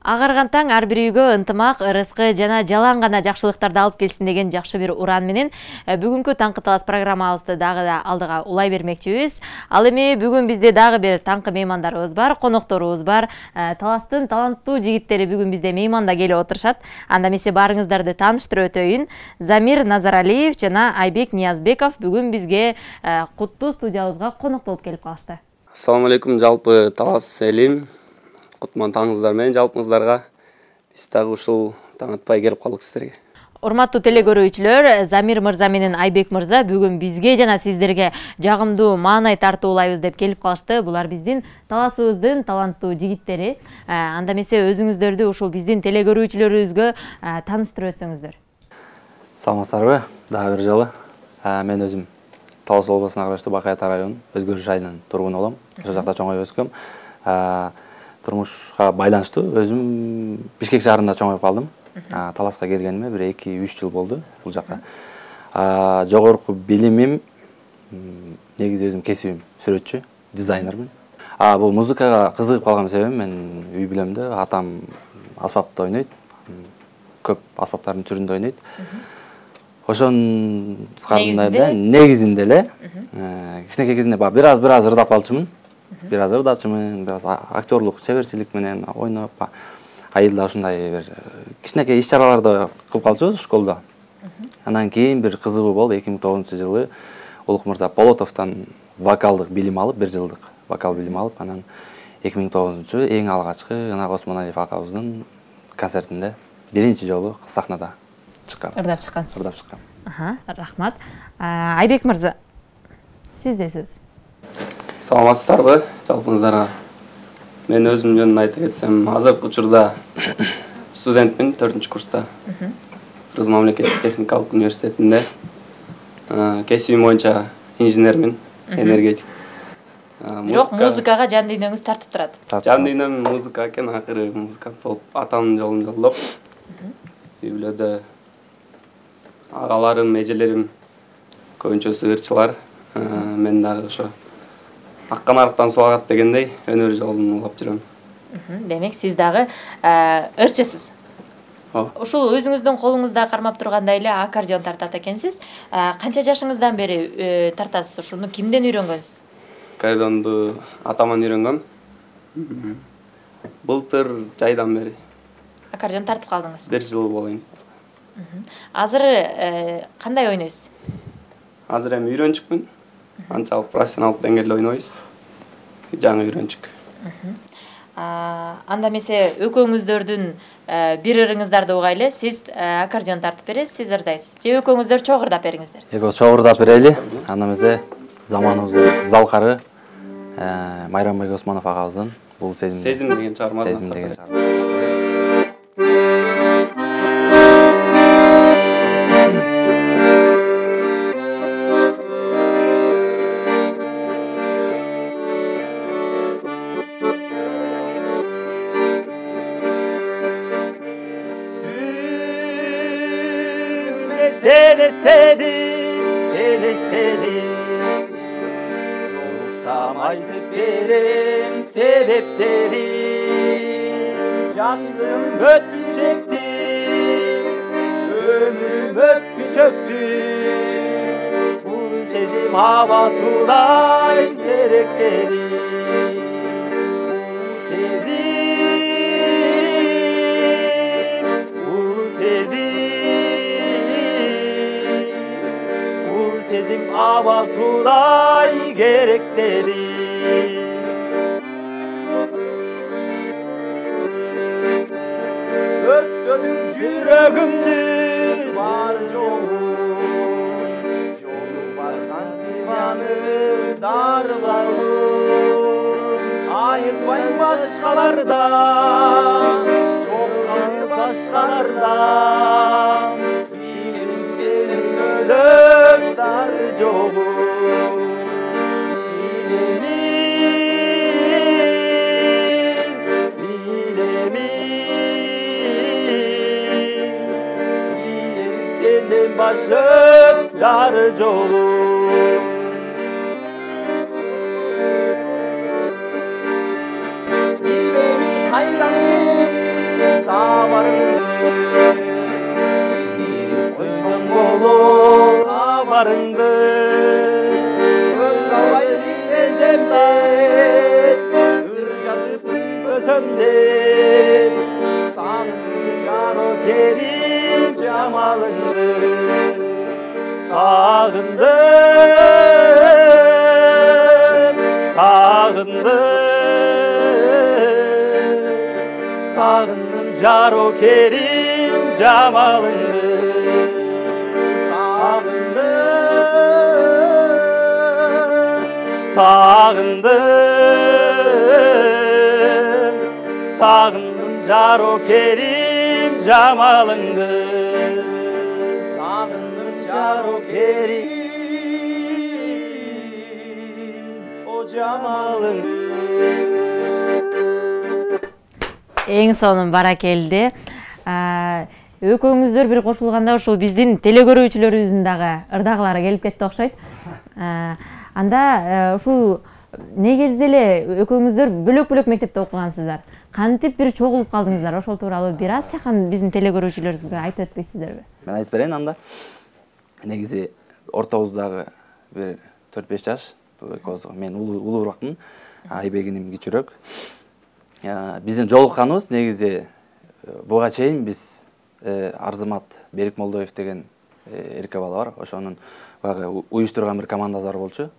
Агарган таң ар бир үйгө ынтымак, ырыскы жана жалаң гана жакшылыктарды алып келсин деген жакшы бир уран менен бүгүнкү Таңкы талас программабызды дагы да алдыга улай бермекчибиз. Ал эми бүгүн бизде дагы бир таңкы меймандарыбыз бар, конокторубуз бар. Таластын таланттуу жигиттери бүгүн бизде мейманда келип отурушат. Анда эмесе барыңыздарды тааныштырып өтөйүн. Замир Назаралиев жана Айбек Ниязбеков бүгүн бизге куттуу студиябызга конок болуп келип калышты. Ассаламу алейкум, жалпы талас элим. Кутман таңыңыздар менен жалпыңыздарга. Биз дагы ушул таң атпай келип калдык сиздерге. Урматтуу телекөрүүчүлөр, Замир мырза менен Айбек мырза бүгүн бизге жана сиздерге жагымдуу маанай тартуулайбыз деп келип калышты. Булар биздин таласыбыздын таланттуу жигиттери. Анда эмесе өзүңүздөрдү ушул биздин телекөрүүчүлөрүбүзгө тааныштырып өтсөңүздөр. Саламатсыздарбы? Дагы бир жолу. Мен өзүм Талас областына караштуу Бакай Ата районунун Өзгөрүш айылынын тургуну болом. Ошол жакта чоңоюп өскөм. Турмушка байланыштуу өзүм Бишкек шаарында чоңоюп калдым. Таласка келгениме бир 2-3 жыл болду бул жака. Жогорку билимим негизи өзүм кесибим сүрөтчү, дизайнермин. Бул музыкага кызыгып калган себебим мен үй бүлөмдө атам аспапта ойнойт. Көп аспаптардын түрүндө ойнойт. Ошонун сыкарында негизинде эле кичинекей кезинде бир аз ырдап калчумун. Бир аз актерлук чеберчилик менен ойноп, айылда ушундай бир кичинекей иш-чараларды кылып калчубуз школдо. Андан кийин бир кызыгуу болуп 2009-жылы Улук мырза Полотовдон вокалдык билим алып, 1 жылдык вокал билим алып, анан 2009-жылы эң алгачкы Ынак Осмоналиев акабыздын концертинде биринчи жолу сахнада чыккам. Ырдап чыккансыз. Ырдап чыккам. Рахмат. Айбек мырза, сизде сөз. Саламатсыздарбы жалпыңыздарга? Мен өзүм жөнүндө айта кетсем, азыркы учурда студентмин, 4-курста. Кыргыз мамлекеттик техникалык университетинде. Кесибим боюнча инженермин, энергетик. Бирок музыкага жан дүйнөңүз тартып турат. Жан дүйнөм музыка экен, акыры музыкант болуп атамдын жолун жолдоп, үй бүлөдө агаларым, эжелерим көбүнчөсү ырчылар. Мен дагы ошо аккан арыктан сулагат дегендей өнөр жолун улап жүрөм. Демек сиз дагы ырчысыз. Ушул өзүңүздүн колуңузда кармап тургандай эле аккордеон тартат экенсиз. Канча жашыңыздан бери тартасыз? Ушуну кимден үйрөнгөнсүз? Аккордеонду атаман үйрөнгөм. Былтыр жайдан бери. Аккордеон тартып калдыңыз? 1 жыл болойн. Азыр кандай ойнойсуз? Азыр эми үйрөнчүкмүн. Анчалык профессионалдык деңгээлде ойнойбуз. Жаңы үйрөнчүк. Анда эмесе экөөңүздөрдүн бир ырыңыздарды угайлы. Сиз аккордеон тартып бересиз, сиз ырдайсыз. Же экөөңүздөр чогуу ырдап бериңиздер? Экөөбүз чогуу ырдап берели. Анда эмесе заманыбыздын залкары Майрамбек Осмонов агабыздын бул сезим деген чыгармасы. Сезим деген чыгарма. Sen istedin Joluksam aytıp berem sebepleri Yaşlığım ötküzekti Ömrüm ötküzöktü Bu sezim havasıday gerekleri Sezim havasıday gerekleri Örttüm yüreğimdi var yolun Yolu bargan tivanı darlalım Ayıkmayın başkalardan Çok kanı başkalardan Bilelim senin ölüm dar yolu Bilemin senden başım dar yolu Bilemin hayransın жолдарыңды көз албай билесем де ыр жазып үзбөсөм де сагындым жаро керим жамалыңды сагындым сагындым жаро керим жамалыңды сагындым жаро керим жамалыңды сагындым жаро керим о жамалыңды. Эң сонун баракелди. Экөөңүздөр бир кошулганда ушул биздин телекөрүүчүлөрүбүздүн дагы ырдагылары келип кетти окшойт. Анда ушул негизи эле экөөңүздөр бөлөк-бөлөк мектепте окугансыздар. Кантип бир чогулуп калдыңыздар? Ошол тууралуу бир аз чакан биздин телекөрүүчүлөрүбүзгө айтып өтпөйсүздөрбү? Мен айтып берейин анда. Негизи ортобуздагы бир 4-5 жаш, мен улууракмын, Айбегиним кичүүрөөк. Биздин жолукканыбыз негизи буга чейин биз Арзымат Берикмолдоев деген эрке бала бар. Ошонун баягы уюштурган бир командасы бар болчу.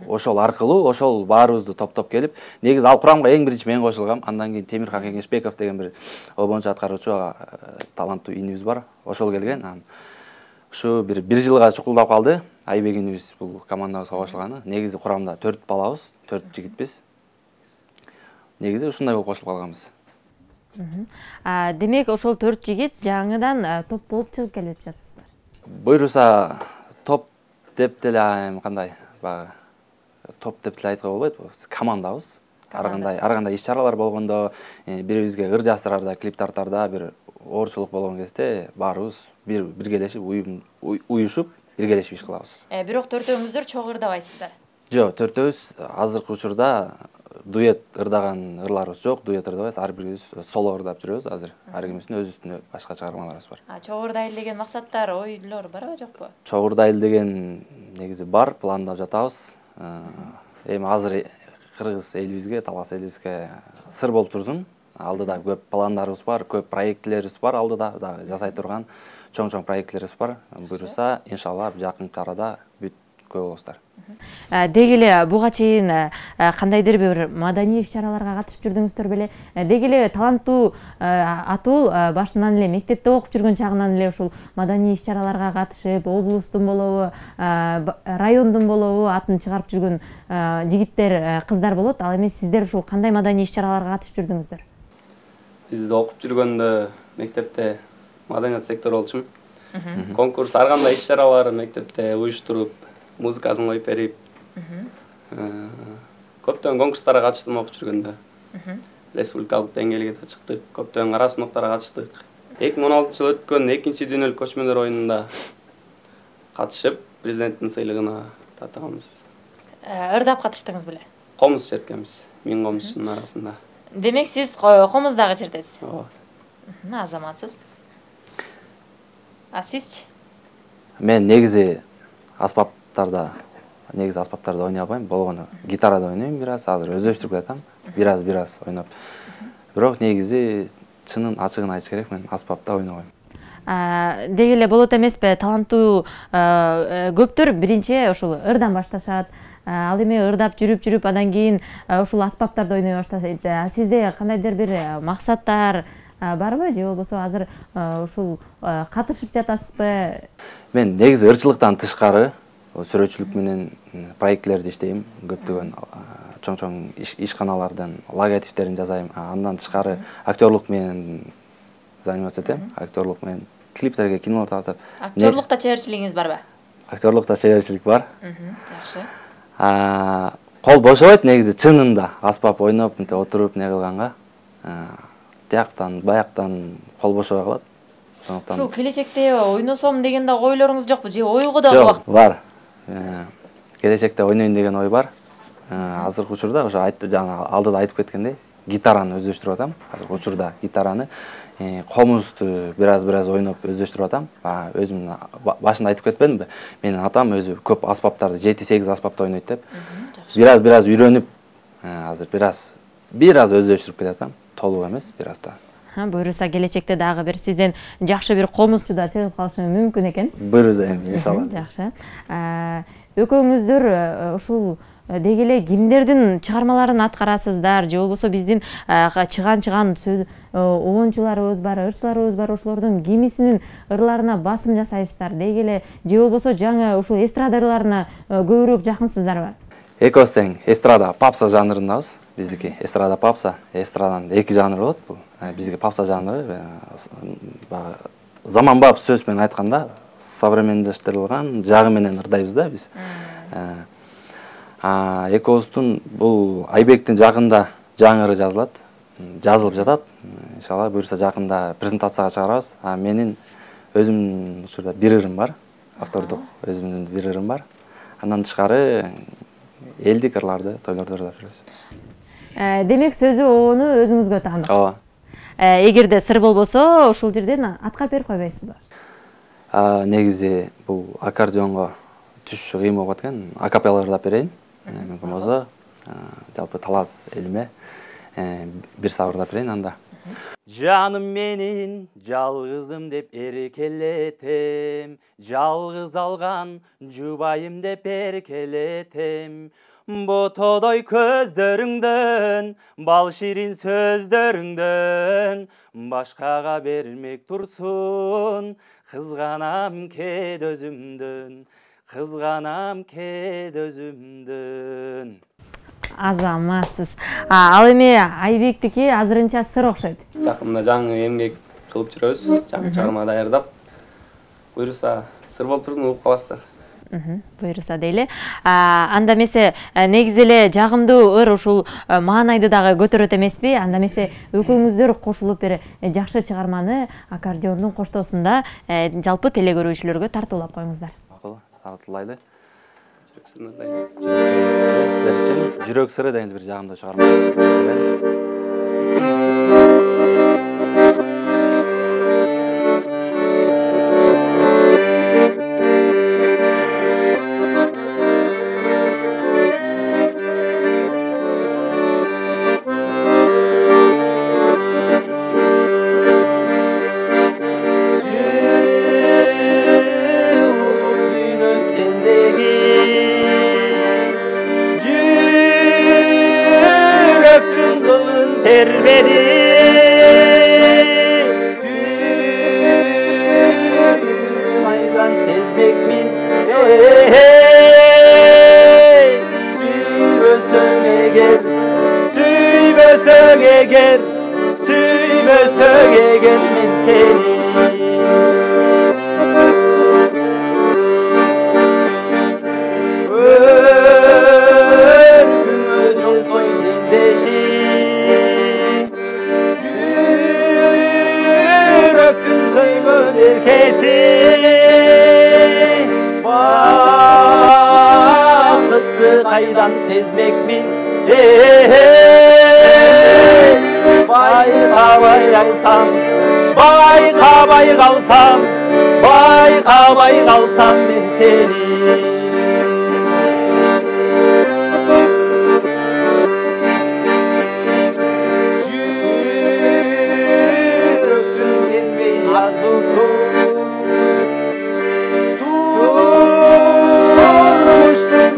Ошол аркылуу ошол баарыбызды топтоп келип, негизи ал курамга эң биринчи мен кошулгам. Андан кийин Темирхан Кеңешбеков деген бир обончу аткаруучу таланттуу инибиз бар. Ошол келген. Ушу бир жылга чукулдап калды. Айбегинибиз бул командабызга кошулганы. Негизи курамда 4 балабыз, 4 жигитпиз. Негизи ушундай болуп кошулуп калганбыз. Демек ошол 4 жигит жаңыдан топ болуп чыгып келип жатасыздар. Буйруса топ деп деле кандай баягы топ деп деле айтканга болбойт. Командабыз. Ар кандай иш-чаралар болгондо, бирибизге ыр жаздырарда, клип тартарда бир оорчулук болгон кезде баарыбыз биргелешип, уюшуп, биргелешип иш кылабыз. Бирок төртөөңүздөр чогуу ырдабайсыздар. Жок, төртөөбүз азыркы учурда дуэт ырдаган ырларыбыз жок, дуэт ырдабайбыз, ар бирибиз соло ырдап жүрөбүз азыр. Ар кимибиздин өз үстүнө башка чыгармаларыбыз бар. Чогуу ырдайлы деген максаттар, ойлор барбы, жокпу? Чогуу ырдайлы деген негизи бар, пландап жатабыз. Эми азыр кыргыз элибизге, талас элибизге сыр болуп турсун. Алдыда көп пландарыбыз бар, көп проектлерибиз бар, алдыда дагы жасай турган чоң проектлерибиз бар. Буюрса, иншалла жакынкы арада бүт көп болосуздар. Деги эле буга чейин кандайдыр бир маданий иш-чараларга катышып жүрдүңүздөр беле? Деги эле таланттуу Атул башынан эле мектепте окуп жүргөн чагынан эле ушул маданий иш-чараларга катышып, облустун болобу, райондун болобу атын чыгарып жүргөн жигиттер, кыздар болот. Ал эми сиздер ушул кандай маданий иш-чараларга катышып жүрдүңүздөр? Биз окуп жүргөндө мектепте маданият сектору болчумун. Конкурс ар кандай иш-чаралар мектепте уюштуруп, музыкасын коюп берип, көптөгөн конкурстарга катыштым окуп жүргөндө. Республикалык деңгээлге да чыктык, көптөгөн кара сыноктарга катыштык. 2016-жылы өткөн 2-чи дүйнөлүк көчмөндөр оюнунда катышып, президенттин сыйлыгына татыганбыз. Ырдап катыштыңыз беле? Комуз черткенбиз, 1000 комузчунун арасында. Демек сиз комуз дагы чертесиз? Ооба. Азаматсыз. А сизчи? Мен негизи аспаптарда ойной албайм. Болгону гитарада ойнойм бир аз, азыр өздөштүрүп атам. Бир аз ойноп. Бирок негизи чынын ачыгын айтыш керек, мен аспапта ойнобойм. Деги эле болот эмеспи, таланттуу көптөр биринчи ушул ырдан башташат. Ал эми ырдап жүрүп, андан кийин ушул аспаптарда ойной башташат. Сизде кандайдыр бир максаттар барбы, же болбосо азыр ушул катышып жатасызбы? Мен негизи ырчылыктан тышкары сүрөтчүлүк менен проектлерди иштейм, көптөгөн чоң ишканалардын логотиптерин жасайм. Андан тышкары актерлук менен заниматься этем, актерлук менен клиптерге, кинолор тартып. Актерлукта чеберчилигиңиз барбы? Актерлукта чеберчилик бар. Жакшы. Кол бошобойт негизи чынында аспап ойноп, мынтип отуруп не кылганга. Тияктан, баяктан кол бошобой калат. Ушул келечекте ойносом деген да ойлоруңуз жокпу, же ойго да жок, бар. Келечекте ойнойм деген ой бар. Азыркы учурда ошо жана алдыда айтып кеткендей, гитараны өздөштүрүп атам. Азыр учурда гитараны, комузду бир аз ойноп өздөштүрүп атам. Өзүм башында айтып кетпедимби? Менин атам өзү көп аспаптарды 7-8 аспапта ойнойт деп. Бир аз үйрөнүп, азыр бир аз өздөштүрүп кетатам. Толук эмес, бир аз да. Буюрса келечекте дагы бир сизден жакшы бир комузчу да чыгып калышы мүмкүн экен. Буюрса иншалла. Жакшы. Экөөңүздөр ушул деги эле кимдердин чыгармаларын аткарасыздар, же болбосо биздин чыган сөз оончуларыбыз бар, ырчыларыбыз бар, ошолордун кимисинин ырларына басым жасайсыздар, деги эле же болбосо жаңы ушул эстрада ырларына көбүрөөк жакынсыздарбы? Экөөбүз тең эстрада попса жанрындабыз. Биздики эстрада попса, эстраданын 2 жанры болот бул. Бизге попса жанры заманбап сөз менен айтканда современdeштирилган жагы менен ырдайбыз да биз. Экөөбүздүн бул Айбектин жакында жаңы ыры жазылып жатат. Иншалла буюрса жакында презентацияга чыгарабыз. Менин өзүмдүн учурда бир ырым бар, автордук өзүмдүн бир ырым бар. Андан тышкары элдик ырларды тойлордо ырдап жүрөбүз. Демек сөзү оону өзүңүзгө таандык. Ооба. Эгерде сыр болбосо, ушул жерден аткап берип койбойсузбу? Негизи бул аккордеонго түшүшү кыйын болуп аткан. Акапелла ырдап берейин. Мүмкүн болсо, жалпы талас элиме бир сабыр ырдап берейин анда. Жаным менин жалгызым деп эркелетем, жалгыз алган жубайым деп эркелетем. Ботодой көздөрүңдөн, бал ширин сөздөрүңдөн башкага бермек турсун, кызганам кет өзүмдөн, кызганам кет өзүмдөн. Азаматсыз. Ал эми Айбектики азырынча сыр окшойт. Жакында жаңы эмгек кылып жүрөбүз, жаңы чыгарма даярдап. Буюрса сыр болуп турсун, угуп каласыздар. Буюрса дейли. Анда эмесе негизи эле жагымдуу ыр ушул маанайды дагы көтөрөт эмеспи? Анда эмесе экөөңүздөр кошулуп бир жакшы чыгарманы аккордеондун коштоосунда жалпы теле көрүүчүлөргө тартуулап коюңуздар. Макул, тартуулайды. Жүрөк Сиздер үчүн жүрөк сыры деген бир жагымдуу чыгарма. Terbedi aydan sezmekmin Süybösög eger, süybösög eger, süybösög eger men seni Örgümö joltoy dendeşi erkesi Vakıtlı kaydan sezmekmin Bayka kalsam, bayka kalsam, bayka kalsam ben seni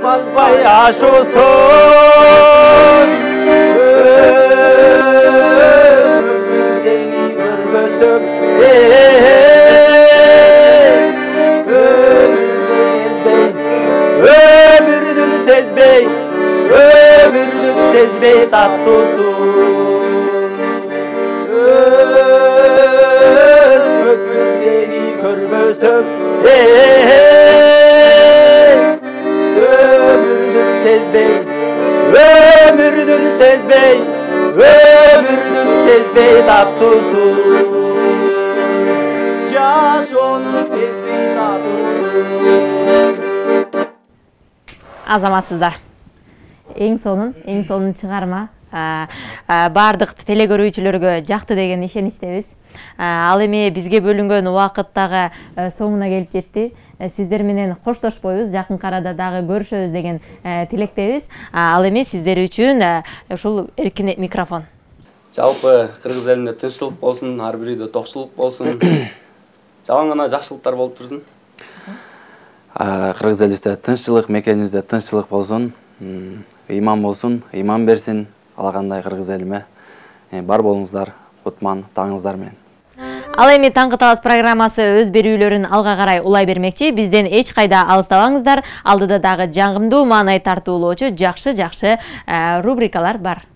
Basbay aşosun Ömrüm seni görmesem Ömürdün sezbey Ömürdün sezbey tatlısun Ömrüm seni görmesem Ömürdün sezbey, ömürdün sezbey tatlısun Yaş onun sezbey tatlısun Азаматсыздар. Эң сонун чыгарма баардык телекөрүүчүлөргө жакты деген ишеничтебиз. Ал эми бизге бөлүнгөн убакыт дагы соңуна келип жетти. Сиздер менен коштошпойбуз, жакынкы арада дагы көрүшөбүз деген тилектебиз. Ал эми сиздер үчүн ушул эркин микрофон. Жалпы кыргыз элинде тынччылык болсун, ар бир үйдө токчулук болсун. Жалаң гана жакшылыктар болуп турсун. Кыргыз элибизде тынччылык, мекенибизде тынччылык болсун, ыйман болсун, ыйман берсин. Ала кандай кыргыз элиме бар болуңуздар, кутман таңыңыздар менен. Ал эми Таңкы Талас программасы өз берүүлөрүн алга карай улай бермекчи. Бизден эч кайда алыстабаңыздар. Алдыда дагы жагымдуу маанай тартуулоочу жакшы рубрикалар бар.